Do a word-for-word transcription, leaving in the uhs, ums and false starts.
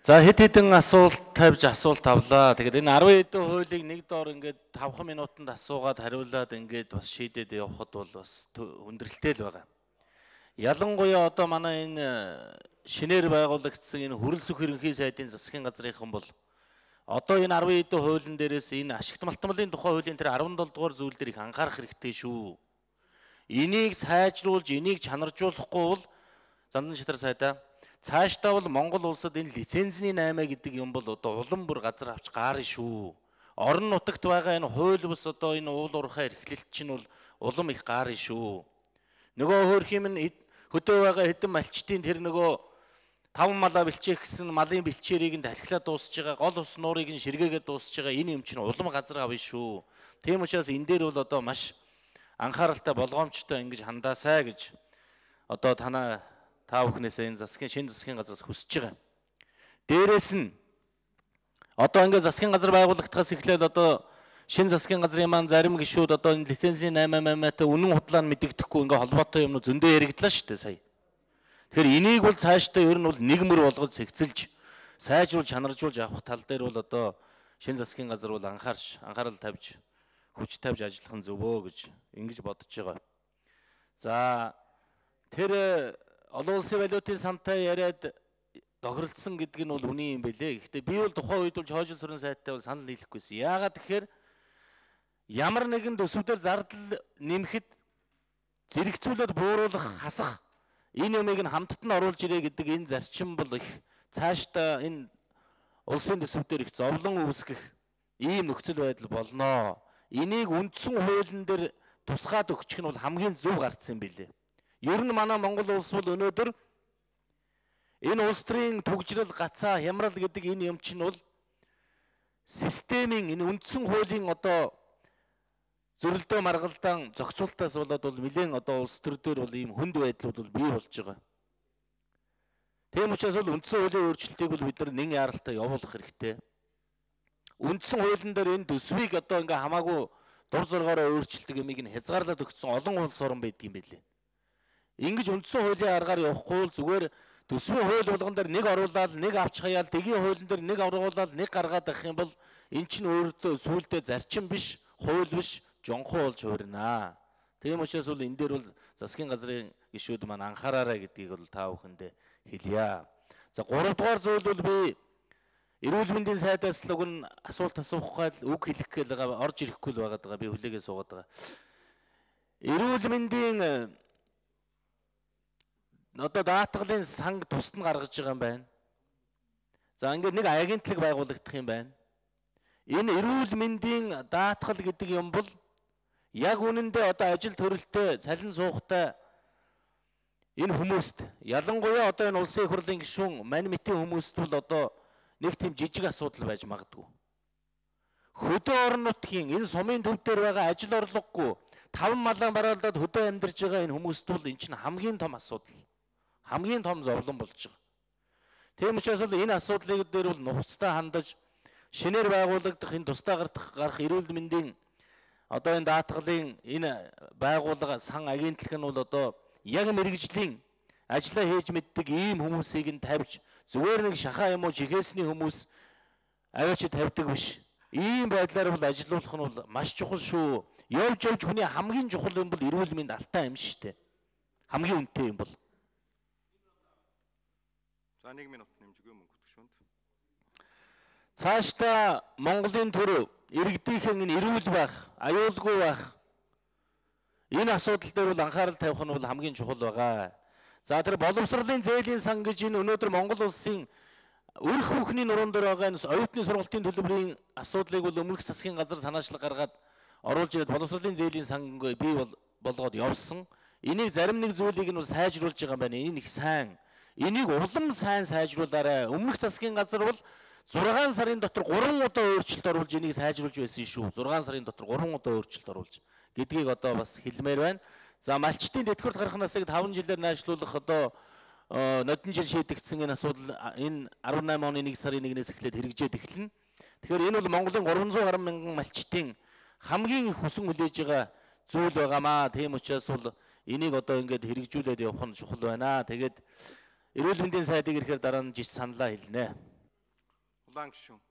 За хэд хэдэн асуулт тавьж асуулт авлаа. Тэгээд энэ арван хэдэн хуулийг нэг доор ингээд тавхан минутанд асуугаад хариулаад ингээд бас шийдээд явахад бол бас хүндрэлтэй л байгаа. Ялангуяа одоо манай энэ шинээр байгуулагдсан энэ хөрөлсөх ерөнхий сайдын засгийн газрынхан бол одоо энэ арван хэдэн хуулийн дээрээс энэ ашигт малтмалын тухай хуулийн тэр арван долоо дугаар зүйл дээр их анхаарах хэрэгтэй шүү. Энийг сайжруулж, энийг чанаржуулахгүй бол Зандан шатар сайдаа цаашдаа бол Монгол улсад энэ лицензийн наймаа гэдэг юм бол одоо улам бүр газар авч гаарна шүү. Орон нутагт байгаа энэ хууль бус одоо энэ уул уурхай эрхлэлт чинь бол улам их гаарна шүү. Нөгөө хөөх юм нь хөдөө байгаа хэдэн малчтын тэр нөгөө таван малаа бэлчээх гэсэн малын бэлчээрийг нь талхилаа дуусж байгаа, гол ус нуурыг нь ширгээгээд дуусж байгаа энэ юм чинь улам газар авна шүү. Тийм учраас энэ дээр бол одоо маш анхааралтай болгоомжтой ингэж хандаасаа гэж одоо танаа та бүхнээсээ энэ засгийн шинэ засгийн газраас хүсэж байгаа. Дээрээс нь одоо ингээд засгийн газар байгуулагдахаас эхлээд одоо шинэ засгийн газрын маань зарим гишүүд одоо энэ лицензийн наймаа маймаатай үнэн худлаа нь мэдэгдэхгүй ингээд холбоотой юмнууд зөндөө яригдлаа шүү дээ сая. Тэгэхээр энийг бол цаашдаа ер нь бол нэгмэр болгож цэгцэлж сайжруулж чанаржуулж авах тал дээр бол одоо шинэ засгийн газар бол анхаарч анхаарал тавьж хүч тавьж ажиллах нь зөвөө гэж ингэж бодож байгаа. За тэр олон улсын валютын сантай яриад тохиролцсон гэдэг нь бол үний юм бэлээ. Гэхдээ би бол тухайн үед бол Хойжил сүрэн сайттай бол санал нийлэхгүйсэн. Яагаад тэгэхээр ямар нэгэн төсөвдөр зардал нэмэхэд зэрэгцүүлээд бууруулах, хасах энэ юмыг нь хамтд нь оруулж ирээ гэдэг энэ зарчим бол их цаашдаа энэ улсын төсөвдөр их зовлон үүсгэх ийм нөхцөл байдал болноо. Энийг үндсэн хуулийн дээр тусгаад өгчих нь бол хамгийн зөв гарцсан юм билээ. Ер нь манай Монгол улс бол өнөөдөр энэ улс төрийн түгжрэл гацаа хямрал гэдэг энэ юм чинь бол системийн энэ үндсэн хуулийн одоо зөрөлдөө маргалдаан зохицуултаас болоод бол нэлээд одоо улс төр дээр бол ийм хүнд байдлууд бол бий болж байгаа. Тийм учраас бол үндсэн хуулийн өөрчлөлтийг бол бид нар нэн яралтай явуулах хэрэгтэй. Үндсэн хуулийн дээр энэ төсвийг одоо ингээ хамаагүй дур зоргоороо өөрчилдөг юмыг нь хязгаарлаад өгсөн олон улс орн байдаг юм билээ. Ингэж үндсэн хуулийн аргаар явахгүй бол зүгээр төсвийн хууль болгон дээр нэг оруулаад нэг авч хаяал дэгийн хуулийн дээр нэг оруулаад нэг гаргаад авах юм бол эн чинь өөртөө сүулдэ зарчим биш, хууль биш, жонхоо болж хуурнаа. Тийм учраас бол энэ дээр бол засгийн газрын гишүүд маань анхаараарай гэдгийг бол та бүхэндээ хэлье. За гурав дугаар зүйл бол би эрүүл мэндийн сайдаас л уг нь асуулт асуух гал үг хэлэх гээл байгаа, орж ирэхгүй л байгаа даа. Би хүлээгээ суугаад байгаа. Эрүүл мэндийн одоо даатгалын санг тусад нь гаргаж байгаа юм байна. За ингээд нэг агентлаг байгуулагдах юм байна. Энэ эрүүл мэндийн даатгал гэдэг юм бол яг үнэндээ одоо ажил төрөлтөө цалин суухтай энэ хүмүүст ялангуяа одоо энэ улсын их хурлын гишүүн мань мэтийн хүмүүст бол одоо нэг тийм жижиг асуудал байж магадгүй. Хөдөө орон нутгийн энэ сумын төв дээр байгаа ажил орлогогүй таван малаа бараалдаад хөдөө амьдарч байгаа энэ хүмүүст бол энэ чинь хамгийн том асуудал. Хамгийн том зовлон болж байгаа. Тийм учраас бол энэ асуудлыг дээр бол нухацтай хандаж шинээр байгуулагдах энэ тусдаа гарах эрүүл мэндийн одоо энэ даатгалын энэ байгууллага сан агентлаг нь бол одоо яг мэрэгжлийн ажиллаа хийж мэддэг ийм хүмүүсийг нь тавьж зүгээр нэг шахаа юм уу жигээсний хүмүүс аваач тавьдаг биш. Ийм байдлаар бол ажилуулах нь бол маш чухал шүү. Явж явж хүний хамгийн чухал юм бол эрүүл мэнд алтай юм шүү дээ. Хамгийн үнэтэй юм бол. За нэг минут нэмжгүй мөнгө төгшөнд. Цаашдаа Монголын төр иргэдийнхэн энэ эрүүл байх, аюулгүй байх энэ асуудал дээр бол анхаарал тавих нь бол хамгийн чухал байгаа. За тэр боловсролын зээлийн сан гэж энэ өнөөдөр Монгол улсын өрх бүхний нуруунд дээр байгаа энэ оюутны сургалтын төлбөрийн асуудлыг бол өмнөх засгийн газар санаачлаг гаргаад оруулж ирээд боловсролын зээлийн сан бий болгоод явсан. Энийг зарим нэг зүйлийг нь сайжруулж байгаа юм байна. Энэ их сайн. Энийг улам сайн сайжруулаарай. Өмнөх засгийн газар бол зургаан сарын дотор гурван удаа өөрчлөлт оруулж энийг сайжруулж байсан шүү. зургаан сарын дотор гурван удаа өөрчлөлт оруулж гэдгийг одоо бас хэлмээр байна. За малчтын тэтгэврт гарах насыг таван жилээр найшлуулах одоо нодон жил шийдэгдсэн энэ асуудал энэ арван найман оны нэг сарын нэгнээс эхлээд хэрэгжээд эхэлнэ. Тэгэхээр энэ бол Монголын гурван зуун гаруй мянган малчтын хамгийн их хүсэн хүлээж байгаа зүйл байгаамаа. Тийм учраас бол энийг одоо ингээд хэрэгжүүлээд явах нь чухал байна. Тэгээд Эрүүл мэндийн сайдыг ирэхээр дараа нь жиш саналаа хэлнэ. Улаан гишүүн.